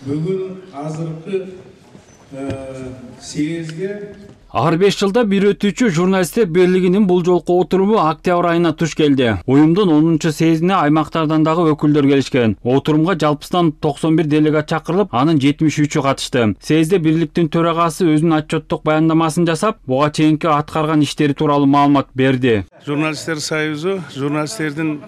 Бүгүн азыркы съездге Ар 5 жылда бир өтүүчү журналисттер бирлигинин бул жолку отуруму октябрь айына туш келди. Уюмдун 10-чу съездине аймактардан дагы өкүлдөр келишкен. Отурумга жалпысынан 91 делегат чакырылып, анын 73-ü катышты. Съездде бирликтин төрагасы өзүнүн отчеттук баяндамасын жасап, буга чейинки аткарган иштери тууралуу маалымат берди. Журналисттер союзу журналисттердин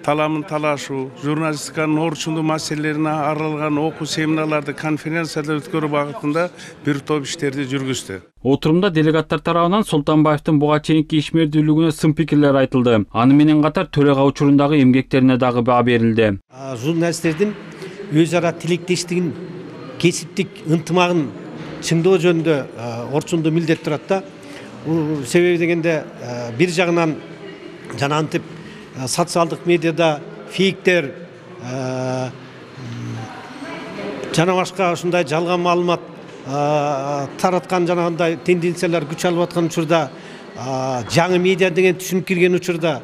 таламын талашуу, журналистиканын орчундуу маселелерине арналган окуу семинарларды, конференцияларды өткөрүү багытында бир топ иштерди жүргүздү. Отурумда делегаттар тарабынан Султанбаевдин буга чейинки ишмердүүлүгүнө сын пикирлер айтылды. Аны менен катар төрага учурундагы эмгектерине дагы баа берилди. Журналисттердин өз ара тилектештигин, кесиптик ынтымагын чыңдоо жөнүндө орчундуу милдет турат да. Себеби дегенде бир жагынан жана антип социалдык медиада фейктер жана башка ушундай жалган маалымат тараткан жанагындай тенденциялар күч алып аткан учурда, жаңы медиа деген түшүнүп кирген учурда,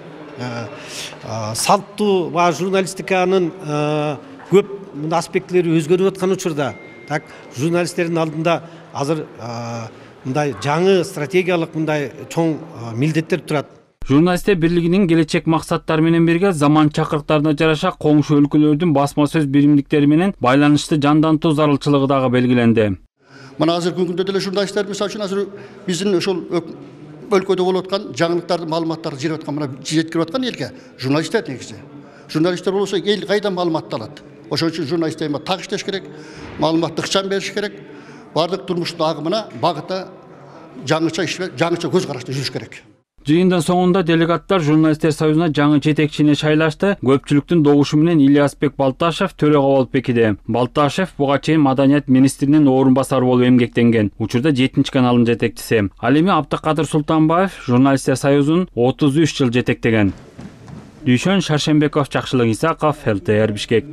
салттуу журналистиканын көп аспектилери өзгөрүп аткан учурда, так журналисттердин алдында азыр мындай жаңы стратегиялык мындай чоң милдеттер турат. Журналисттер бирлигинин келечек максаттары менен бирге заман чакырыктарына жараша коңшу өлкөлөрдүн басма сөз биримдиктери менен байланышты жандантуу зарылчылыгы дагы белгиленди. Мына азыркы күндө деле журналисттер мисалы үчүн азыр биздин ошол өлкөдө болуп аткан жаңылыктарды, маалыматтарды жеткирип аткан элге журналисттер негизи. Журналисттер болсо эл кайда маалыматты алат. Ошон үчүн журналисттер так иштеш керек, маалыматты ыкчам бериш керек, бардык турмуштун агымына багыта жаңыча көз карашта жүрүш керек. Жыйындын соңунда делегаттар журналисттер союзуна жаңы жетекчине шайлашты. Көпчүлүктүн добушу менен Ильясбек Балташев төрага болуп бекиди. Балташев буга чейин маданият министринин орун басары болуп эмгектенген. Учурда 7-чи каналдын жетекчиси. Ал эми Абдыкадыр Султанбаев журналисттер союзун 33 жыл жетектеген. Дүйшөн Шаршембеков, Жакшылык Исаков, ЛТР Бишкек.